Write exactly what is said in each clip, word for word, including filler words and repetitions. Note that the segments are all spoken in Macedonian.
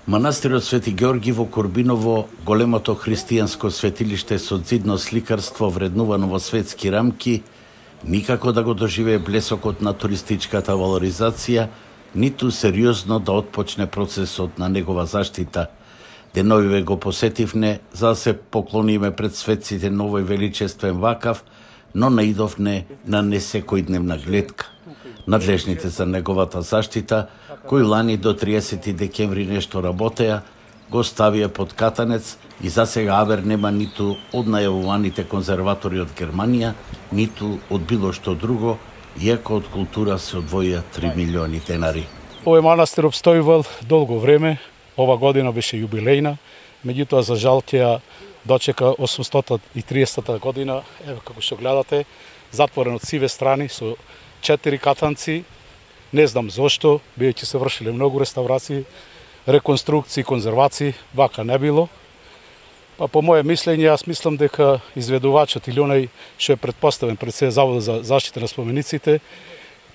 Манастирот Свети Георги во Корбиново, големото христијанско светилиште со зидно сликарство вреднувано во светски рамки, никако да го доживее блесокот на туристичката валоризација, ниту сериозно да отпочне процесот на негова заштита. Деновиве го посетивне за да се поклониме пред светците на овој величествен вакав, но наидовне на несекојдневна гледка. Надлежните за неговата заштита, кои лани до триесети декември нешто работеа, го ставија под катанец и за сега авер нема ниту од најавуваните конзерватори од Германија, ниту од било што друго, иако од култура се одвоија три милиони денари. Овој манастир обстојувал долго време, ова година беше јубилејна, меѓутоа за жал ќе ја дочека осумстотна и триесетта година, еве како што гледате, затворен од сиве страни со четири катанци, не знам зошто, бидејќи се вршиле многу реставрации, реконструкции, конзервации, вака не било. Па по моје мислење, јас мислам дека изведувачот или онај што е претпоставен пред се Заводот за заштита на спомениците,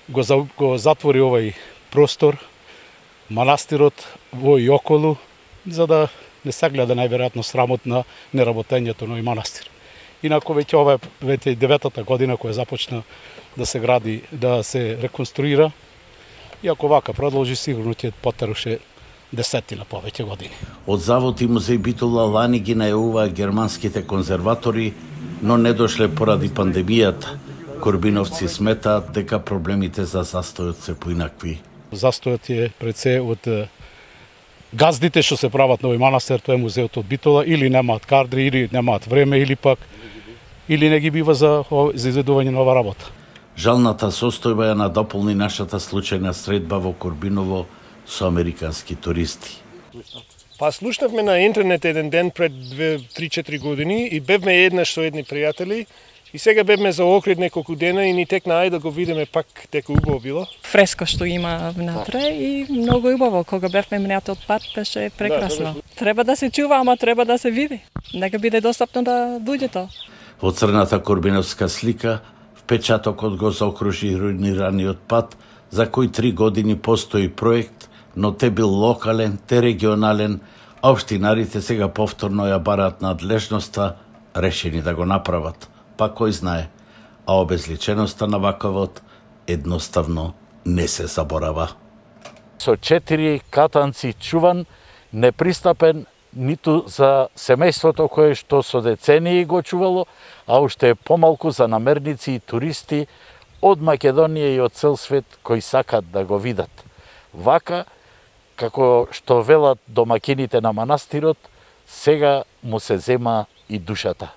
го, за, го затвори овај простор, манастирот во и околу, за да не се гледа најверојатно срамот на неработењето на овој манастир. Инако веќе ова е веќе деветата година која започна да се гради, да се реконструира, и ако вака продолжи, сигурно ќе потеруше десетина повеќе години. Од Завод и музеј Битола лани ги најавуваа германските конзерватори, но не дошле поради пандемијата. Корбиновци сметаат дека проблемите за застојот се поинакви. Застојот е пред се од газдите што се прават на овој манастир, тоа е музеот од Битола, или немаат кадри, или немаат време, или пак или не ги бива за, за изведување на ова работа. Жалната состојба ја надополни нашата случајна средба во Корбиново со американски туристи. Па слушнавме на интернет еден ден пред три-четири години и бевме еднаш со едни пријатели и сега бевме за Охрид неколку дена и ни текна ајде да го видиме пак дека убаво било. Фреско што има внатре и многу убаво. Кога бевме минатиот пат беше прекрасно. Да, треба да се чува, ама треба да се види. Нека биде достапно да дојдете. Во црната корбиновска слика впечатокот го заокружи руинираниот пат, за кој три години постои проект, но те бил локален, те регионален, а општинарите сега повторно ја бараат надлежноста, решени да го направат. Па кој знае, а обезличеноста на ваковот едноставно не се заборава. Со четири катанци чуван, непристапен ниту за семејството кое што со децении го чувало, а уште помалку за намерници и туристи од Македонија и од цел свет кои сакат да го видат. Вака, како што велат домакините на манастирот, сега му се зема и душата.